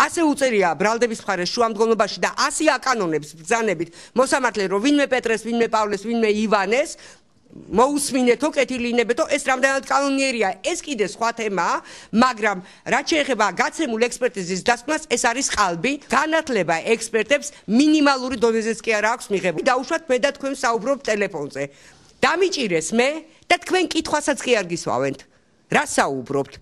ასე უწერია ბრალდების მხარეს შუამდგომლობაში და 100 აკანონებს ბრძანებით მოსამართლე რომ ვინმე პეტრეს, ვინმე პავლეს, ვინმე ივანეს მოусმინეთო, კეთილინებეთო, ეს რამდენად კანონიერია, ეს კიდე სხვა თემაა, მაგრამ რაც შეეხება გაცემულ ექსპერტიზის დასკვნას, ეს არის ყალბი, განათლება ექსპერტებს მინიმალური დონეზეც კი არ აქვს მიღებული. დაუშვათ მე და თქვენ საუბრობთ ტელეფონზე. დამიჭირეს მე და თქვენ კითხვასაც კი არ გისვავენთ. რა საუბრობთ?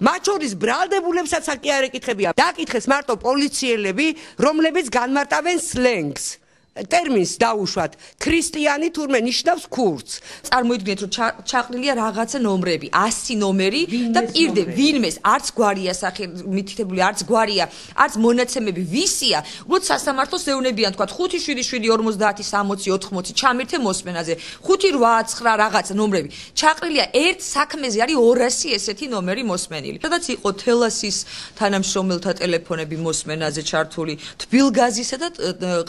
მათ შორის ბრალდებულებსაც კი არ ეკითხებია. დაკითხეს მარტო პოლიციელები, რომლებიც განმარტავენ სლენგს. ტერმინს დაუშვათ ქრისტიანი თურმე ნიშნავს ქურდს. წარმოიდგინეთ რომ ჩაყრილია რაღაცა ნომრები, 100 ნომერი და პირდე ვინმეს არც გვარია სახე მითითებული, არც გვარია, არც მონაცემები ვისია, უბრალოდ სასამართლოს ეუნებიან თქვა 5 7 7 50 60 80 ჩამირთე მოსმენაზე 5 8 9 რაღაცა ნომრები. ჩაყრილია ერთ საქმეზე არის 200 ესეთი ნომერი მოსმენილი. სადაც იყო თელასის თანამშრომელთა ტელეფონები მოსმენაზე ჩართული, თბილგაზისა და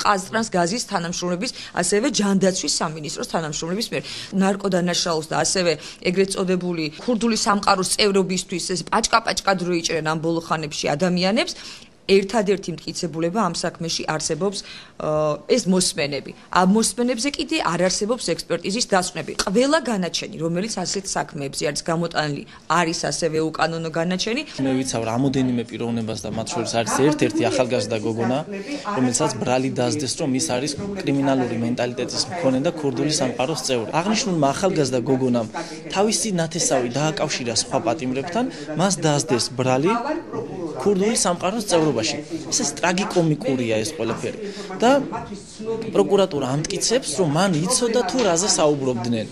ყაზტრანს გაზის თანამშრომლების, ასევე ჯანდაცვის სამინისტროს თანამშრომლების მიერ ნარკოდანაშაულს და ასევე ეგრეთ წოდებული ქურდული სამყაროს წევრობისთვის ეს პაჭკა-პაჭკად რო იჭრენ ამ ბოლო ხანებში ადამიანებს. ერთადერთი მტკიცებულება ამ საქმეში არსებობს ეს მოსმენები. ამ მოსმენებზე კიდე არ არსებობს ექსპერტიზის დასკვნები. ყველა განაჩენი, რომელიც ასეთ საქმეებზე არის გამოტანილი, არის ასევე უკანონო განაჩენი. მე ვიცავ რამოდენიმე პიროვნებას და მათ შორის არის ერთ-ერთი ახალგაზრდა გოგონა, რომელსაც ბრალი დასდეს, რომ ის არის კრიმინალური მენტალიტეტის მქონე და ქურდული სამყაროს წევრი. აღნიშნულმა ახალგაზრდა გოგონამ თავისი ნათესავი დააკავშირა სხვა პატიმრებთან, მას დასდეს ბრალი ქურდული სამყაროს წევრობაში. ეს ტრაგიკომიკურია ეს ყველაფერი. და პროკურატურა ამტკიცებს, რომ მან იცოდა თუ რაზე საუბრობდნენ.